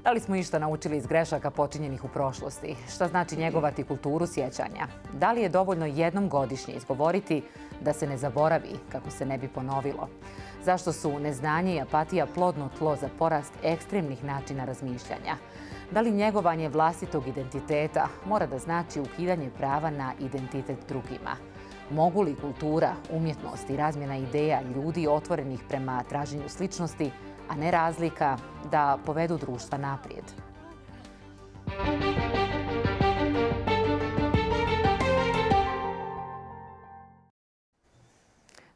Da li smo išta naučili iz grešaka počinjenih u prošlosti? Šta znači njegovati kulturu sjećanja? Da li je dovoljno jednom godišnje izgovoriti da se ne zaboravi kako se ne bi ponovilo? Zašto su neznanje i apatija plodno tlo za porast ekstremnih načina razmišljanja? Da li njegovanje vlastitog identiteta mora da znači ukidanje prava na identitet drugima? Mogu li kultura, umjetnost i razmjena ideja ljudi otvorenih prema traženju sličnosti, a ne razlika, da povedu društva naprijed?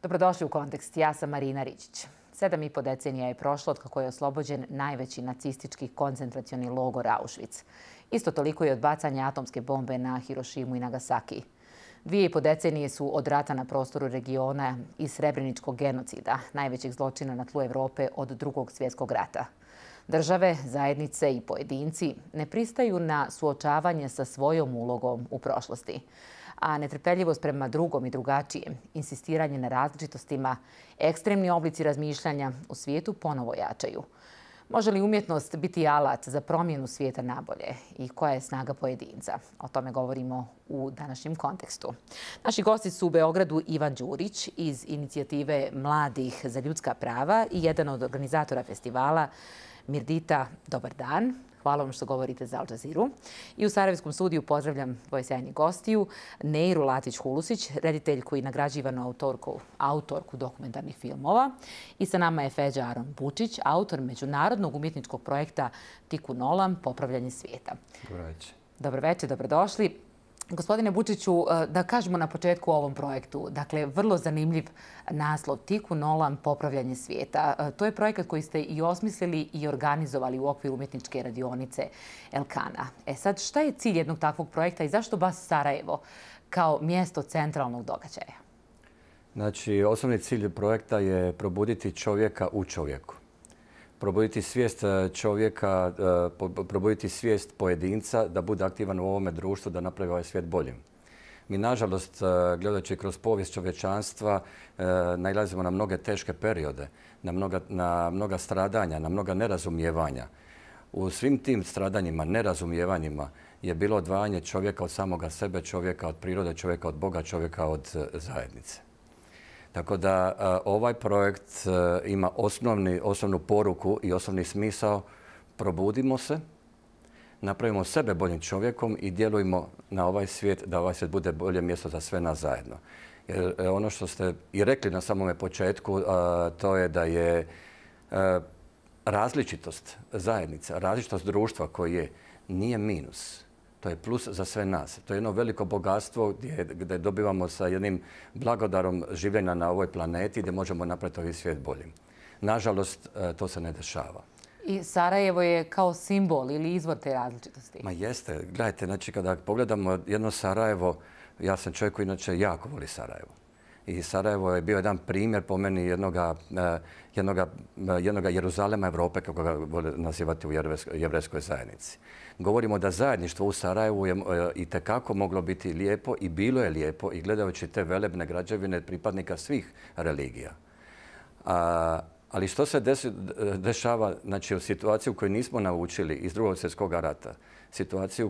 Dobrodošli u Kontekst. Ja sam Marina Riđić. 7,5 decenija je prošlo od kako je oslobođen najveći nacistički koncentracioni logor Auschwitz. Isto toliko je od bacanja atomske bombe na Hirošimu i Nagasaki. 2,5 decenije su od rata na prostoru regiona i srebreničkog genocida, najvećeg zločina na tlu Evrope od Drugog svjetskog rata. Države, zajednice i pojedinci ne pristaju na suočavanje sa svojom ulogom u prošlosti, a netrpeljivost prema drugom i drugačijem, insistiranje na različitostima, ekstremni oblici razmišljanja u svijetu ponovo jačaju. Može li umjetnost biti alat za promjenu svijeta nabolje i koja je snaga pojedinca? O tome govorimo u današnjem kontekstu. Naši gosti su u Beogradu Ivan Đurić iz inicijative Mladih za ljudska prava i jedan od organizatora festivala Mirdita, dobar dan. Hvala vam što govorite za Al Jazeeru. I u Sarajevskom studiju pozdravljam dvoje sjajnih gostiju. Neiru Latić-Hulusić, rediteljku i nagrađivanu autorku dokumentarnih filmova. I sa nama je Feđa Aron Bučić, autor međunarodnog umjetničkog projekta Tiku Nolam, Popravljanje svijeta. Dobro večer. Dobro večer, dobrodošli. Gospodine Bučiću, da kažemo na početku o ovom projektu. Dakle, vrlo zanimljiv naslov Tiku Nolam, Popravljanje svijeta. To je projekat koji ste i osmislili i organizovali u okviru umjetničke radionice Elkana. Sad, šta je cilj jednog takvog projekta i zašto baš Sarajevo kao mjesto centralnog događaja? Znači, osnovni cilj projekta je probuditi čovjeka u čovjeku. Probuditi svijest čovjeka, probuditi svijest pojedinca da bude aktivan u ovome društvu, da napravi ovaj svijet boljim. Mi, nažalost, gledajući kroz povijest čovječanstva, nailazimo na mnoge teške periode, na mnoga stradanja, na mnoga nerazumijevanja. U svim tim stradanjima, nerazumijevanjima je bilo odvajanje čovjeka od samoga sebe, čovjeka od prirode, čovjeka od Boga, čovjeka od zajednice. Tako da ovaj projekt ima osnovnu poruku i osnovni smisao. Probudimo se, napravimo sebe boljim čovjekom i djelujmo na ovaj svijet da ovaj svijet bude bolje mjesto za sve nas zajedno. Jer ono što ste i rekli na samome početku, to je da je različitost zajednica, različitost društva koje nije minus. To je plus za sve nas. To je jedno veliko bogatstvo gdje dobivamo sa jednim blagodarom življenja na ovoj planeti gdje možemo napraviti ovaj svijet boljim. Nažalost, to se ne dešava. I Sarajevo je kao simbol ili izvor te različitosti? Ma jeste. Gledajte, znači kada pogledamo jedno Sarajevo, ja sam čovjek koji inače jako voli Sarajevo. I Sarajevo je bio jedan primjer po meni jednoga Jeruzalema Evrope, kako ga vole nazivati u jevrejskoj zajednici. Govorimo da zajedništvo u Sarajevu je itekako moglo biti lijepo i bilo je lijepo i gledajući te velebne građevine pripadnika svih religija. Ali što se dešava, znači, u situaciju koju nismo naučili iz Drugog svjetskog rata, situaciju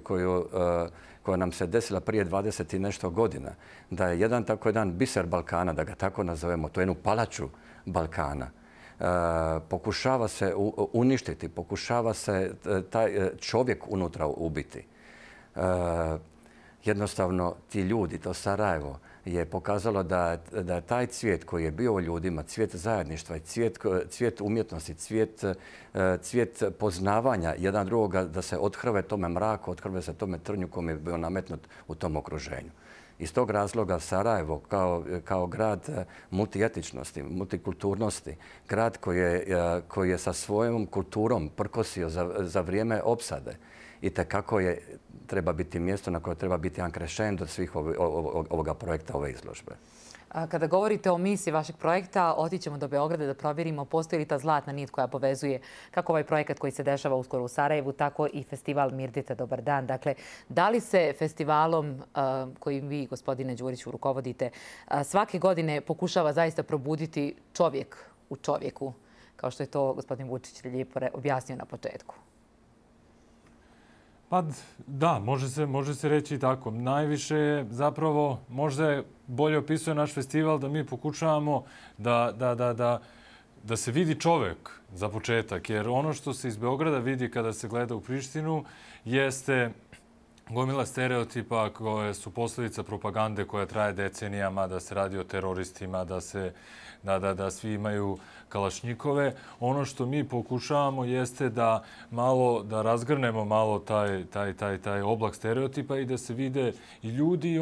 koja nam se desila prije 20 i nešto godina, da je jedan biser Balkana, da ga tako nazovemo, to je jednu palaču Balkana, pokušava se uništiti, pokušava se taj čovjek unutra ubiti. Jednostavno, ti ljudi, to Sarajevo, je pokazalo da taj cvijet koji je bio u ljudima, cvijet zajedništva, cvijet umjetnosti, cvijet poznavanja jedan drugoga, da se othrve tome mraku, othrve se tome trnju kom je bio nametnut u tom okruženju. Iz tog razloga Sarajevo kao grad multietičnosti, multikulturnosti, grad koji je sa svojom kulturom prkosio za vrijeme opsade, i tekako treba biti mjesto na koje treba biti ankrešend od svih ovoga projekta, ove izložbe. Kada govorite o misiji vašeg projekta, otićemo do Beograda da provjerimo postoji li ta zlatna nit koja povezuje kako ovaj projekat koji se dešava uskoro u Sarajevu, tako i festival Mirdita, dobar dan. Dakle, da li se festivalom kojim vi, gospodine Đuriću, rukovodite, svake godine pokušava zaista probuditi čovjek u čovjeku, kao što je to gospodin Vučić lijepo objasnio na početku? Pa da, može se reći i tako. Najviše je zapravo, možda je bolje opisuje naš festival da mi pokušavamo da se vidi čovek za početak. Jer ono što se iz Beograda vidi kada se gleda u Prištinu jeste gomila stereotipa koje su posljedica propagande koja traje decenijama, da se radi o teroristima, da svi imaju kalašnjikove. Ono što mi pokušavamo jeste da razgrnemo malo taj oblak stereotipa i da se vide i ljudi i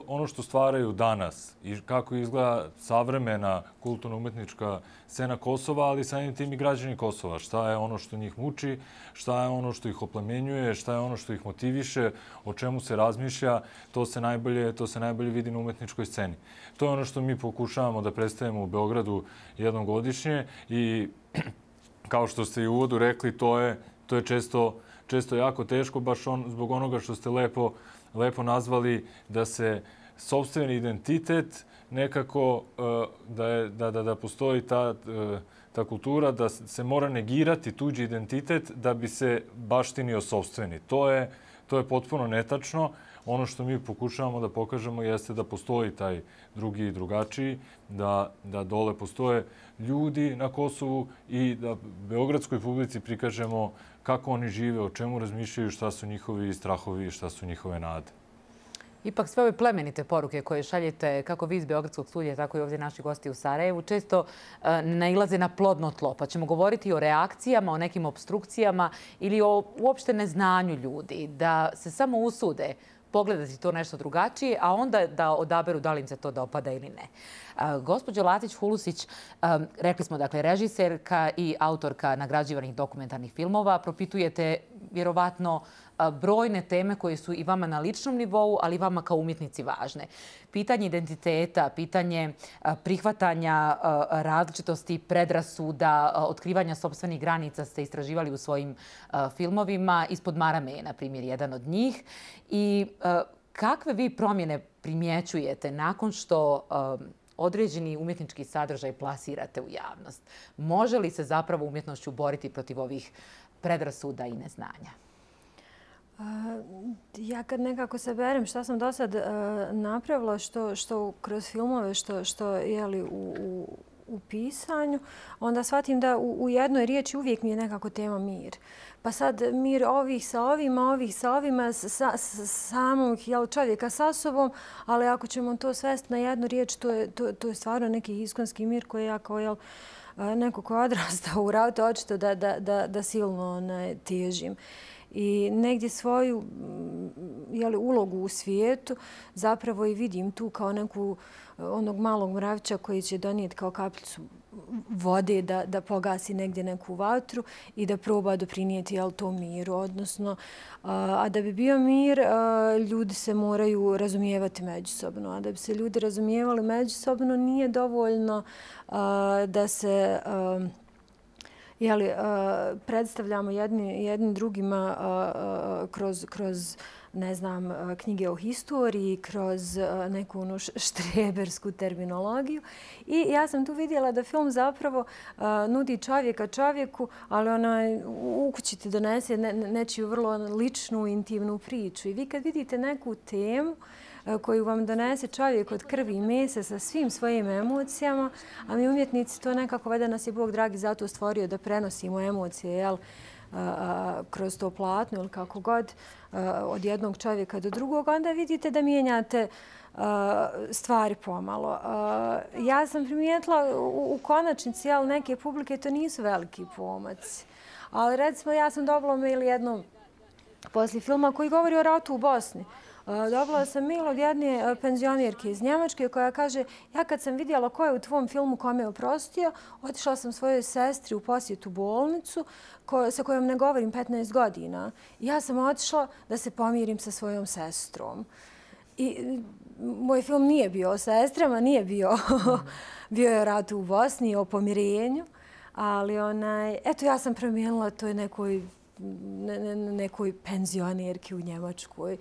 ono što stvaraju danas i kako izgleda savremena kulturno-umetnička scena Kosova, ali samim tim i građani Kosova. Šta je ono što njih muči, šta je ono što ih oplemenjuje, šta je ono što ih motiviše, o čemu se razmišlja, to se najbolje vidi na umetničkoj sceni. To je ono što mi pokušavamo da predstavimo u Beogradu jednom godišnje i kao što ste i u uvodu rekli, to je često jako teško, baš zbog onoga što ste lepo nazvali, da se sopstveni identitet nekako, da postoji ta kultura, da se mora negirati tuđi identitet da bi se baštinio sopstveni. To je potpuno netačno. Ono što mi pokušavamo da pokažemo jeste da postoji taj drugi i drugačiji, da dole postoje ljudi na Kosovu i da beogradskoj publici prikažemo kako oni žive, o čemu razmišljaju, šta su njihovi strahovi i šta su njihove nade. Ipak sve ove plemenite poruke koje šaljete kako vi iz Beogradskog studija, tako i ovdje naši gosti u Sarajevu, često nailaze na plodno tlo. Pa ćemo govoriti o reakcijama, o nekim opstrukcijama ili o uopšte neznanju ljudi, da se samo usude pogledati to nešto drugačije, a onda da odaberu da li im se to dopada ili ne. Gospođo Latić-Hulusić, rekli smo, dakle, režiserka i autorka nagrađivanih dokumentarnih filmova, propitujete vjerovatno brojne teme koje su i vama na ličnom nivou, ali i vama kao umjetnici važne. Pitanje identiteta, pitanje prihvatanja različitosti, predrasuda, otkrivanja sopstvenih granica ste istraživali u svojim filmovima. Ispod marame je, na primjer, jedan od njih. I kakve vi promjene primjećujete nakon što određeni umjetnički sadržaj plasirate u javnost? Može li se zapravo umjetnošću boriti protiv ovih predrasuda i neznanja? Ja kad nekako saberem šta sam do sad napravila, što kroz filmove, što je u pisanju, onda shvatim da u jednoj riječi uvijek mi je nekako tema mir. Pa sad mir ovih sa ovima, samog čovjeka sa sobom, ali ako ćemo to svesti na jednu riječ, to je stvarno neki iskonski mir koji ja kao neko ko je odrastao u ratu, očito da silno težim. I negdje svoju ulogu u svijetu zapravo i vidim tu kao neku onog malog mravića koji će donijeti kao kapljicu vode da pogasi negdje neku vatru i da proba doprinijeti tom miru. Odnosno, a da bi bio mir, ljudi se moraju razumijevati međusobno. A da bi se ljudi razumijevali međusobno, nije dovoljno da se predstavljamo jedni drugima kroz ne znam, knjige o historiji, kroz neku štrebersku terminologiju. I ja sam tu vidjela da film zapravo nudi čovjeka čovjeku, ali u kući ti donese nečiju vrlo ličnu, intimnu priču. I vi kad vidite neku temu koju vam donese čovjek od krvi i mesa sa svim svojim emocijama, a mi umjetnici to nekako, valjda nas je Bog dragi zato stvorio da prenosimo emocije, kroz to platno ili kako god, od jednog čovjeka do drugog, onda vidite da mijenjate stvari pomalo. Ja sam primijetila u konačnici, neke publike to nisu veliki pomaci. Ali recimo ja sam dobila mail jednom poslije filma koji govori o ratu u Bosni. Dobila sam mail od jedne penzionirke iz Njemačke koja kaže: ja kad sam vidjela ko je u tvom filmu kome je oprostio, otišla sam svojoj sestri u posjetu bolnicu sa kojom ne govorim 15 godina. Ja sam otišla da se pomirim sa svojom sestrom. I moj film nije bio o sestrama, nije bio je o ratu u Bosni, o pomirenju, ali eto ja sam promijenila to nekoj penzionirki u Njemačkoj.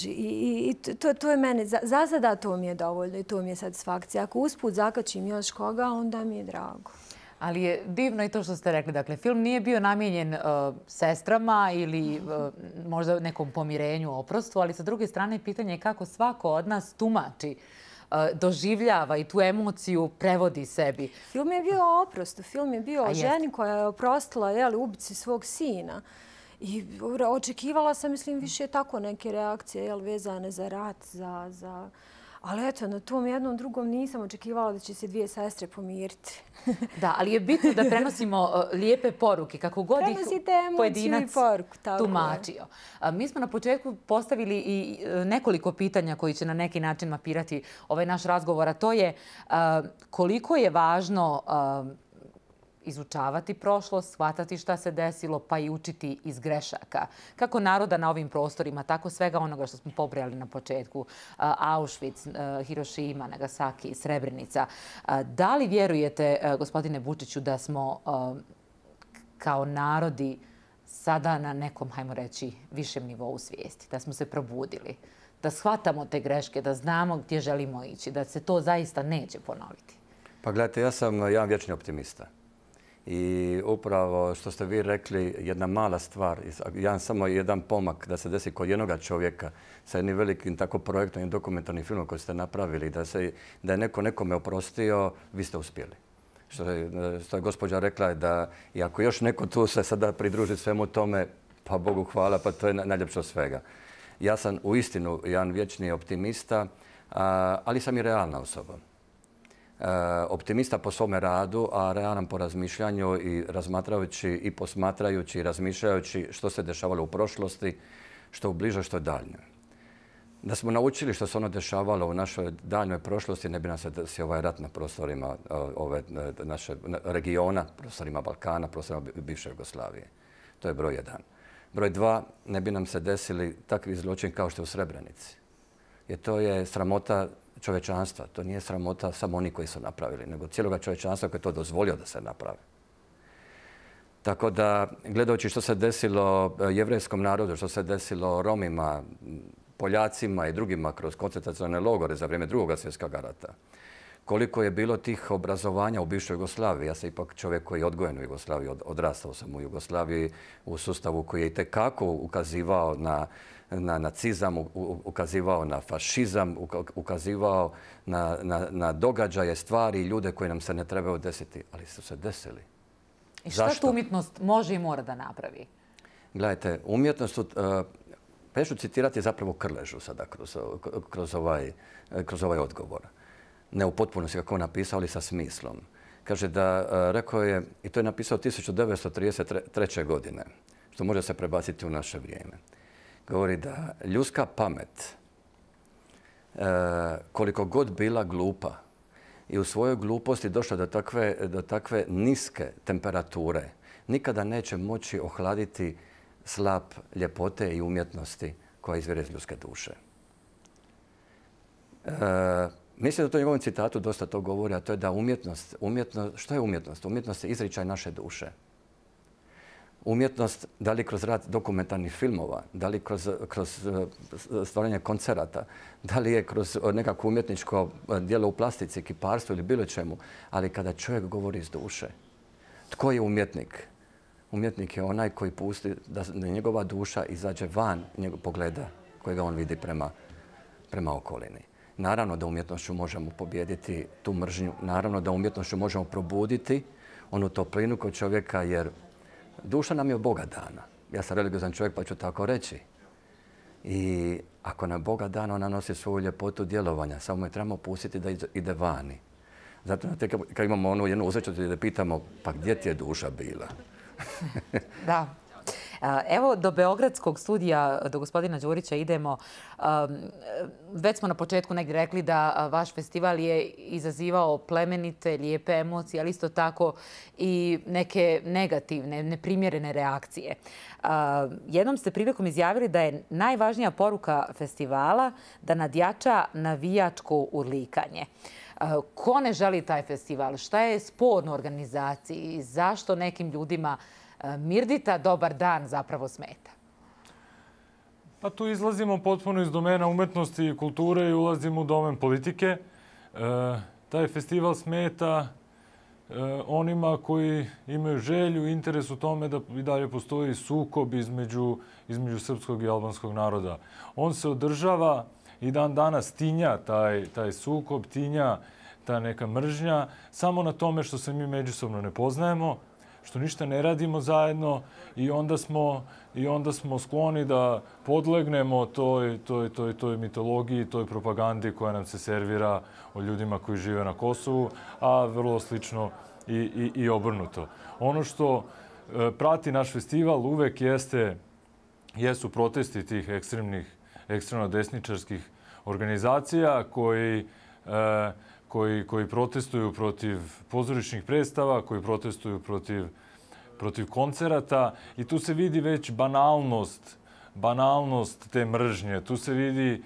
I to je mene, za sada to mi je dovoljno i to mi je satisfakcija. Ako usput zakačim još koga, onda mi je drago. Ali je divno i to što ste rekli. Dakle, film nije bio namijenjen sestrama ili možda nekom pomirenju, oprostu, ali sa druge strane pitanje je kako svako od nas tumači, doživljava i tu emociju prevodi sebi. Film je bio oprost. Film je bio o ženi koja je oprostila ubici svog sina. I očekivala sam, mislim, više tako neke reakcije vezane za rat, za... Ali eto, na tom jednom drugom nisam očekivala da će se dvije sestre pomiriti. Da, ali je bitno da prenosimo lijepe poruke, kako god ih pojedinac tumačio. Mi smo na početku postavili i nekoliko pitanja koji će na neki način mapirati ovaj naš razgovor, a to je koliko je važno izučavati prošlost, shvatati šta se desilo, pa i učiti iz grešaka. Kako naroda na ovim prostorima, tako svega onoga što smo pobrojali na početku. Auschwitz, Hirošima, Nagasaki, Srebrenica. Da li vjerujete, gospodine Vučiću, da smo kao narodi sada na nekom, hajmo reći, višem nivou svijesti? Da smo se probudili? Da shvatamo te greške, da znamo gdje želimo ići, da se to zaista neće ponoviti? Pa gledajte, ja sam jedan vječni optimista. I upravo što ste vi rekli, jedna mala stvar, samo jedan pomak da se desi kod jednoga čovjeka sa jednim velikim tako projektom i dokumentarnim filmom koji ste napravili, da je neko nekome oprostio, vi ste uspjeli. Što je gospođa rekla da i ako još neko tu se sada pridruži svemu tome, pa Bogu hvala, pa to je najljepše od svega. Ja sam uistinu jedan vječni optimista, ali sam i realna osoba. Optimista po svome radu, a realan po razmišljanju i razmatrajući i posmatrajući i razmišljajući što se dešavalo u prošlosti, što u bližoj, što daljnjoj. Da smo naučili što se ono dešavalo u našoj daljnjoj prošlosti, ne bi nam se desio ovaj rat na prostorima ove naše regiona, prostorima Balkana, prostorima bivše Jugoslavije. To je broj 1. Broj 2, ne bi nam se desili takvi zločin kao što je u Srebrenici. Jer to je sramota čovječanstva. To nije sramota samo oni koji su napravili, nego cijeloga čovječanstva koji je to dozvolio da se napravi. Tako da, gledajući što se desilo jevrejskom narodu, što se desilo Romima, Poljacima i drugima kroz koncentracione logore za vrijeme Drugog svjetskog rata, koliko je bilo tih obrazovanja u bivšoj Jugoslaviji. Ja sam ipak čovjek koji je odgojen u Jugoslaviji, odrastao sam u Jugoslaviji u sustavu koji je itekako ukazivao na nacizam, ukazivao na fašizam, ukazivao na događaje, stvari i ljude koji nam se ne trebaju desiti, ali su se desili. I šta tu umjetnost može i mora da napravi? Gledajte, umjetnost, pa ja ću citirati zapravo Krležu sada kroz ovaj odgovor. Ne u potpunosti kako on napisao, ali sa smislom. Kaže da, rekao je, i to je napisao 1933. godine, što može se prebaciti u naše vrijeme. Govori da ljudska pamet, koliko god bila glupa i u svojoj gluposti došla do takve niske temperature, nikada neće moći ohladiti slap ljepote i umjetnosti koja izvire iz ljudske duše. Mislim da to u njegovom citatu dosta to govori, a to je da umjetnost, što je umjetnost? Umjetnost je izričaj naše duše. Umjetnost, da li kroz rad dokumentarnih filmova, da li kroz stvaranje koncerata, da li je kroz nekako umjetničko djelo u plastici, kiparstvu ili bilo čemu, ali kada čovjek govori iz duše. Tko je umjetnik? Umjetnik je onaj koji pusti da njegova duša izađe van pogleda kojega on vidi prema okolini. Naravno da umjetnošću možemo pobijediti tu mržnju, naravno da umjetnošću možemo probuditi onu toplinu kod čovjeka, jer duša nam je od Boga dana. Ja sam religiozan čovjek pa ću tako reći. I ako nam Boga dana, ona nosi svoju ljepotu djelovanja, samo je trebamo pustiti da ide vani. Zato kad imamo onu jednu uzreću da pitamo, pa gdje ti je duša bila? Da. Evo, do Beogradskog studija, do gospodina Đurića idemo. Već smo na početku negdje rekli da vaš festival je izazivao plemenite, lijepe emocije, ali isto tako i neke negativne, neprimjerene reakcije. Jednom ste prilikom izjavili da je najvažnija poruka festivala da nadjača navijačko urlikanje. Ko ne želi taj festival? Šta je sporno u organizaciji? Zašto nekim ljudima Mirdita dobar dan zapravo smeta? Pa tu izlazimo potpuno iz domena umetnosti i kulture i ulazimo u domen politike. Taj festival smeta onima koji imaju želju i interes u tome da i dalje postoji sukob između srpskog i albanskog naroda. On se održava i dan danas tinja taj sukob, tinja ta neka mržnja samo na tome što se mi međusobno ne poznajemo, što ništa ne radimo zajedno i onda smo skloni da podlegnemo toj mitologiji, toj propagandi koja nam se servira o ljudima koji žive na Kosovu, a vrlo slično i obrnuto. Ono što prati naš festival uvek jesu protesti tih ekstremno desničarskih organizacija koji protestuju protiv pozorišnih predstava, koji protestuju protiv koncerata i tu se vidi već banalnost te mržnje. Tu se vidi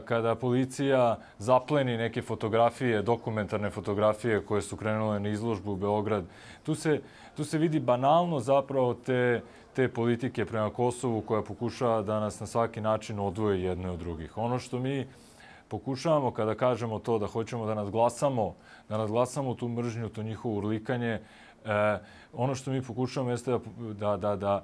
kada policija zapleni neke fotografije, dokumentarne fotografije koje su krenule na izložbu u Beograd. Tu se vidi banalno zapravo te politike prema Kosovu koja pokušava da nas na svaki način odvoji jedne od drugih. Ono što mi pokušavamo kada kažemo to da hoćemo da nadglasamo tu mržnju, to njihovo urlikanje, ono što mi pokušavamo jeste da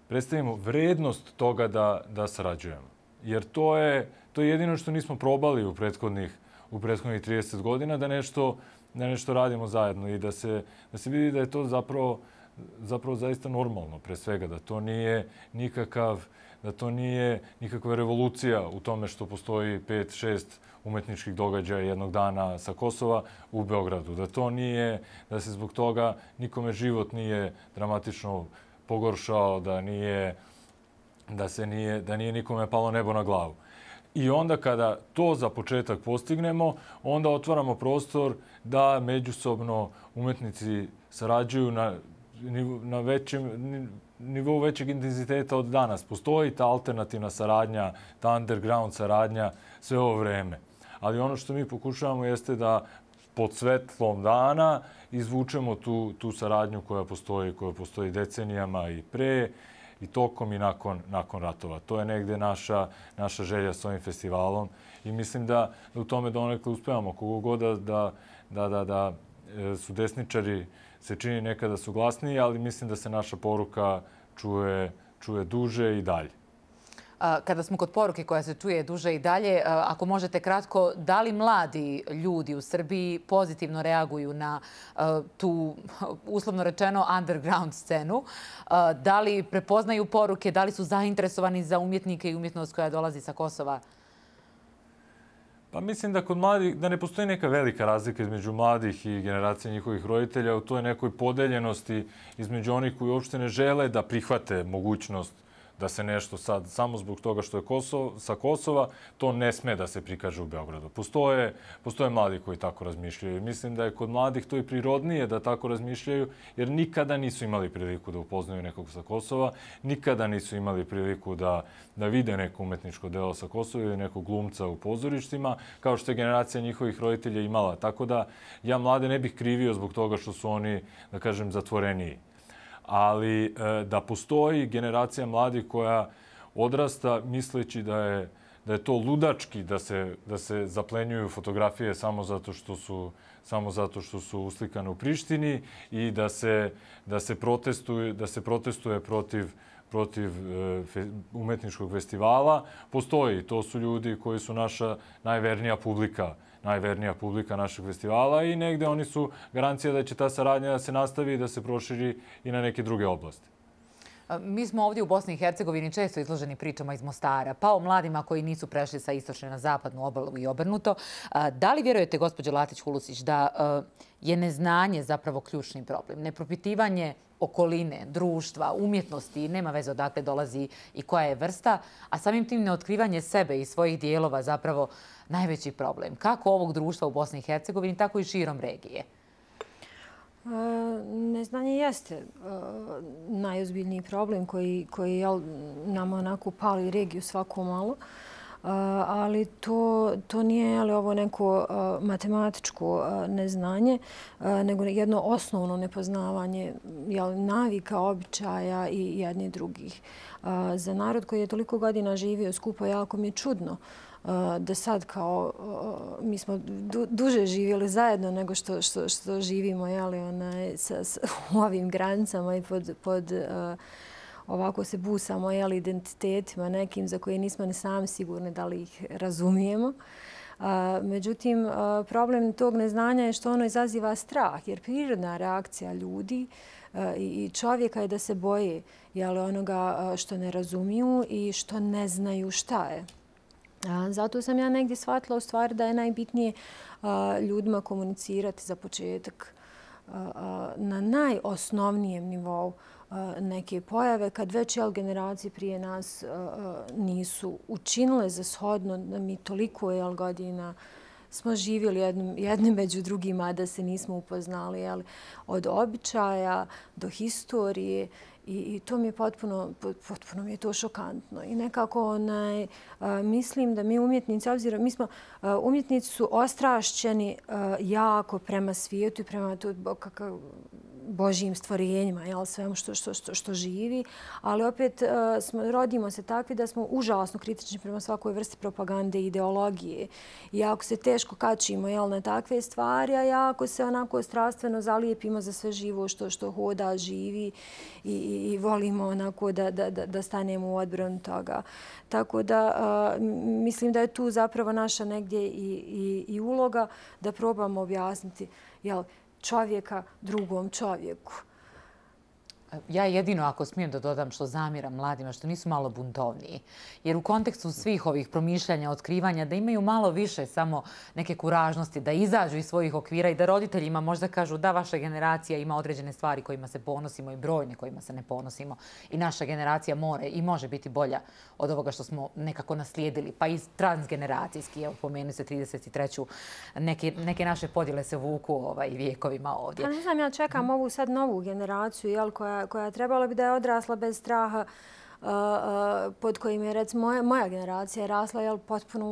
predstavimo vrednost toga da sarađujemo. Jer to je jedino što nismo probali u prethodnih 30 godina, da nešto radimo zajedno i da se vidi da je to zapravo zaista normalno, pre svega, da to nije nikakva revolucija u tome što postoji 5-6 umetničkih događaja jednog dana sa Kosova u Beogradu. Da se zbog toga nikome život nije dramatično pogoršao, da nije nikome palo nebo na glavu. I onda kada to za početak postignemo, onda otvaramo prostor da međusobno umetnici sarađuju na nivou većeg intenziteta od danas. Postoji ta alternativna saradnja, ta underground saradnja sve ovo vreme. Ali ono što mi pokušavamo jeste da pod svetlom dana izvučemo tu saradnju koja postoji decenijama i pre, i tokom i nakon ratova. To je negde naša želja s ovim festivalom i mislim da u tome donekle uspevamo. Kogo god da su desničari se čini nekada su glasniji, ali mislim da se naša poruka čuje duže i dalje. Kada smo kod poruke koja se čuje duže i dalje, ako možete kratko, da li mladi ljudi u Srbiji pozitivno reaguju na tu, uslovno rečeno, underground scenu? Da li prepoznaju poruke, da li su zainteresovani za umjetnike i umjetnost koja dolazi sa Kosova? Pa mislim da kod mladih, da ne postoji neka velika razlika između mladih i generacije njihovih roditelja u toj nekoj podeljenosti između onih koji uopšte ne žele da prihvate mogućnost da se nešto sad, samo zbog toga što je sa Kosova, to ne sme da se prikaže u Beogradu. Postoje mladi koji tako razmišljaju. Mislim da je kod mladih to i prirodnije da tako razmišljaju, jer nikada nisu imali priliku da upoznaju nekog sa Kosova, nikada nisu imali priliku da vide neko umetničko delo sa Kosova ili nekog glumca u pozorištima, kao što je generacija njihovih roditelja imala. Tako da ja mlade ne bih krivio zbog toga što su oni, da kažem, zatvoreniji. Ali da postoji generacija mladih koja odrasta misleći da je to ludački da se zaplenjuju fotografije samo zato što su uslikane u Prištini i da se protestuje protiv umetničkog festivala. Postoji. To su ljudi koji su naša najvernija publika našeg festivala i negde oni su garancija da će ta saradnja da se nastavi i da se proširi i na neke druge oblasti. Mi smo ovdje u Bosni i Hercegovini često izloženi pričama iz Mostara, pa o mladima koji nisu prešli sa istočne na zapadnu obalu i obrnuto. Da li vjerujete, gospođo Latić-Hulusić, da je neznanje zapravo ključni problem? Nepropitivanje okoline, društva, umjetnosti, nema veze odakle dolazi i koja je vrsta, a samim tim neotkrivanje sebe i svojih dijelova zapravo najveći problem. Kako ovog društva u Bosni i Hercegovini, tako i širom regije? Neznanje jeste najozbiljniji problem koji nama onako pali regiju svako malo. ali to nije ovo neko matematičko neznanje, nego jedno osnovno nepoznavanje navika, običaja i jednih drugih. Za narod koji je toliko godina živio skupo, jako mi je čudno da sad kao mi smo duže živjeli zajedno nego što živimo u ovim granicama i pod ovako se busamo identitetima nekim za koje nismo ni sami sigurni da li ih razumijemo. Međutim, problem tog neznanja je što ono izaziva strah, jer prirodna reakcija ljudi i čovjeka je da se boje onoga što ne razumiju i što ne znaju šta je. Zato sam ja negdje shvatila u stvari da je najbitnije ljudima komunicirati za početak na najosnovnijem nivou neke pojave kad već generacije prije nas nisu učinile za shodno da mi toliko godina smo živjeli jedni među drugima da se nismo upoznali od običaja do historije. I to mi je potpuno mi je to šokantno. I nekako mislim da mi umjetnici, obzirom umjetnici su ostrašćeni jako prema svijetu i prema Božjim stvorenjima, svemu što živi, ali opet rodimo se takvi da smo užasno kritični prema svakoj vrsti propagande i ideologije. I jako se teško kačimo na takve stvari, a jako se onako strastveno zalijepimo za sve živo što hoda, živi i volimo onako da stanemo u odbranu toga. Tako da mislim da je tu zapravo naša negdje i uloga da probamo objasniti čovjeka drugom čovjeku. Ja jedino, ako smijem da dodam, što zamjeram mladima, što nisu malo buntovniji. Jer u kontekstu svih ovih promišljanja, otkrivanja, da imaju malo više samo neke kuražnosti, da izađu iz svojih okvira i da roditeljima možda kažu da vaša generacija ima određene stvari kojima se ponosimo i brojne kojima se ne ponosimo. I naša generacija more i može biti bolja od ovoga što smo nekako naslijedili. Pa i transgeneracijski, evo pomenu se 33. Neke naše podjele se vuku vijekovima ovdje. Pa ne znam, ja čekam ovu sad novu generaciju, koja trebala bi da je odrasla bez straha, pod kojim je recimo moja generacija rasla potpuno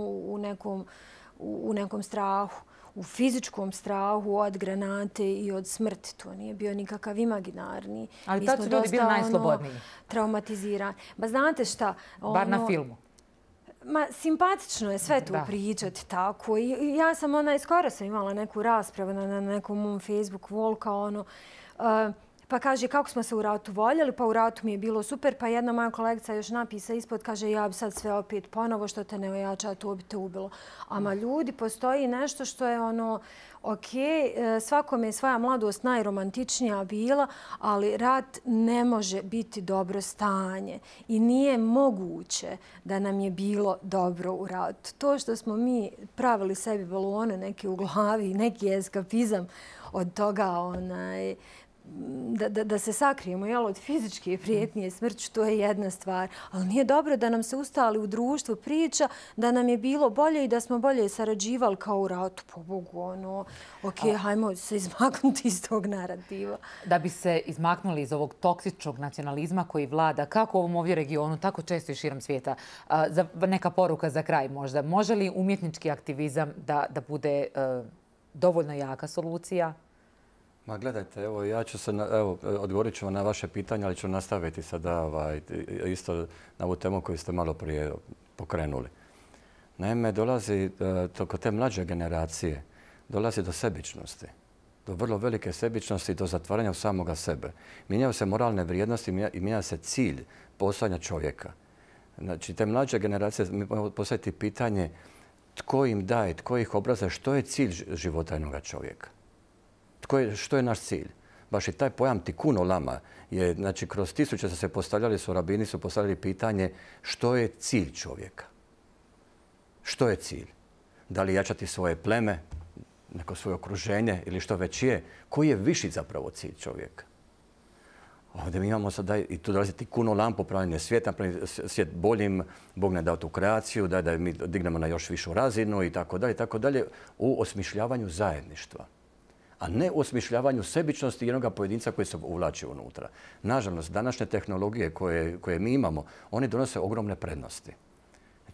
u nekom strahu, u fizičkom strahu od granate i od smrti. To nije bio nikakav imaginarni. Ali tad su ljudi bili najslobodniji. Traumatizirani. Ba znate šta? Bar na filmu. Simpatično je sve tu pričati tako. Ja sam skoro sam imala neku raspravu na nekom mom Facebook wall kao pa kaže kako smo se u ratu voljeli, pa u ratu mi je bilo super, pa jedna moja kolegica još napisa ispod, kaže ja bi sad sve opet ponovo, što te ne ojača, to bi te ubilo. Ama ljudi, postoji nešto što je ok, svakome je svoja mladost najromantičnija bila, ali rat ne može biti dobro stanje i nije moguće da nam je bilo dobro u ratu. To što smo mi pravili sebi balone neke u glavi, neki eskapizam od toga da se sakrijemo od fizičke prijetnje smrću, to je jedna stvar. Ali nije dobro da nam se ustali u društvu priča da nam je bilo bolje i da smo bolje sarađivali kao u ratu. Po Bogu, ok, hajmo se izmaknuti iz tog narativa. Da bi se izmaknuli iz ovog toksičnog nacionalizma koji vlada kako u ovom ovdje regionu, tako često i širom svijeta, neka poruka za kraj možda. Može li umjetnički aktivizam da bude dovoljno jaka solucija? Ma gledajte, evo ja ću se, odgovorit ću vam na vaše pitanje, ali ću nastaviti sada isto na ovu temu koju ste malo prije pokrenuli. Naime, dolazi kod te mlađe generacije, dolazi do sebičnosti, do vrlo velike sebičnosti i do zatvaranja u samoga sebe. Mijenjaju se moralne vrijednosti i mijenja se cilj postojanja čovjeka. Znači, te mlađe generacije, mi možemo postaviti pitanje tko im daje, tko ih obrazuje, što je cilj života jednoga čovjeka. Što je naš cilj? Baš i taj pojam tikkun olama je, znači, kroz tisuće se postavljali, rabini su postavljali pitanje što je cilj čovjeka? Što je cilj? Da li jačati svoje pleme, neko svoje okruženje ili što već je? Koji je viši zapravo cilj čovjeka? Ovdje mi imamo sada i tu dolazi tikkun olam, popravljanje svijeta, svijet boljim, Bog ne dao tu kreaciju, da mi dignemo na još višu razinu i tako dalje, u osmišljavanju zajedništva, a ne u osmišljavanju sebičnosti jednog pojedinca koji se uvlači unutra. Nažalost, današnje tehnologije koje mi imamo, one donose ogromne prednosti.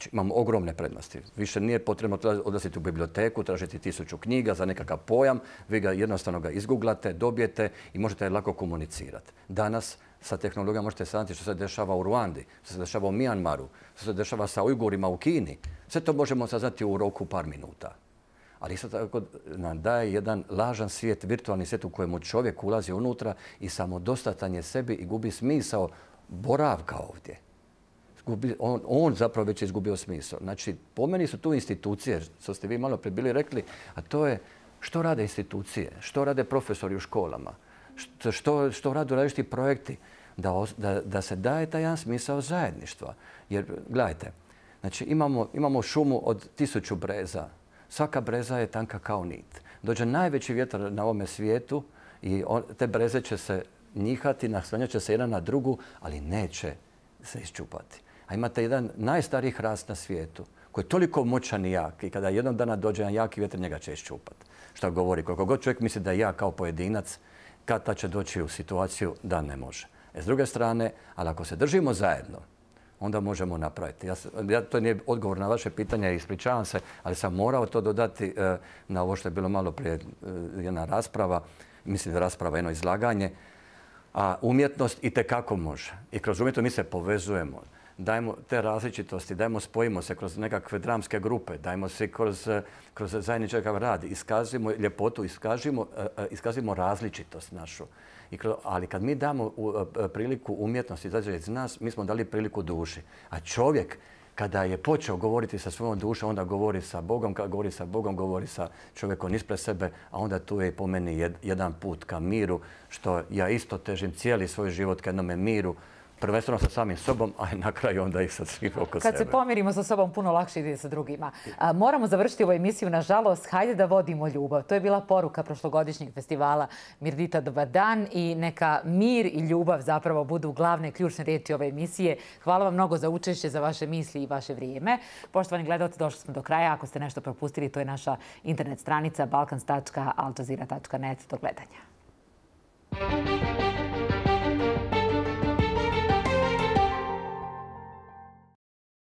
Znači, imamo ogromne prednosti. Više nije potrebno odlaziti u biblioteku, tražiti 1000 knjiga za nekakav pojam. Vi ga jednostavno izgooglate, dobijete i možete lako komunicirati. Danas sa tehnologijom možete saznati što se dešava u Ruandi, što se dešava u Mijanmaru, što se dešava sa Ujgurima u Kini. Sve to možemo saznati u roku par minuta. Ali isto tako nam daje jedan lažan svijet, virtualni svijet u kojemu čovjek ulazi unutra i samodostatan je sebi i gubi smisao boravka ovdje. On zapravo već je izgubio smisao. Znači, po meni su tu institucije, što ste vi malo prije bili rekli, a to je što rade institucije, što rade profesori u školama, što rade različiti projekti, da se daje taj jedan smisao zajedništva. Jer, gledajte, znači, imamo šumu od 1000 breza. Svaka breza je tanka kao nit. Dođe najveći vjetar na ovome svijetu i te breze će se njihati, naslanjat će se jedna na drugu, ali neće se isčupati. A imate jedan najstariji hrast na svijetu koji je toliko moćan i jak i kada jednog dana dođe jedan jaki vjetar, njega će isčupati. Što govori, koliko god čovjek misli da je jak kao pojedinac, kad će doći u situaciju da ne može. S druge strane, ali ako se držimo zajedno, onda možemo napraviti. To nije odgovor na vaše pitanje, ispričavam se, ali sam morao to dodati na ovo što je bilo malo prije jedna rasprava, mislim da rasprava jedno izlaganje. A umjetnost itekako može. I kroz umjetnost mi se povezujemo. Dajmo te različitosti, spojimo se kroz nekakve dramske grupe, dajmo se kroz zajednički rad, iskazimo ljepotu, iskazimo različitost našu. Ali kad mi damo priliku umjetnosti izađe iz nas, mi smo dali priliku duši. A čovjek, kada je počeo govoriti sa svojom dušom, onda govori sa Bogom, kad govori sa Bogom, govori sa čovjekom ispred sebe, a onda tu je i po meni jedan put ka miru, što ja isto težim cijeli svoj život ka jednome miru, prvenstveno sa samim sobom, a na kraju onda i sa svim oko sebe. Kad se pomirimo sa sobom, puno lakše ide sa drugima. Moramo završiti ovu emisiju, nažalost. Hajde da vodimo ljubav. To je bila poruka prošlogodišnjeg festivala Mirdita, dobar dan, i neka mir i ljubav zapravo budu glavne ključne riječi ove emisije. Hvala vam mnogo za učešće, za vaše misli i vaše vrijeme. Poštovani gledalci, došli smo do kraja. Ako ste nešto propustili, to je naša internet stranica balkans.aljazeera.net. Do gledanja.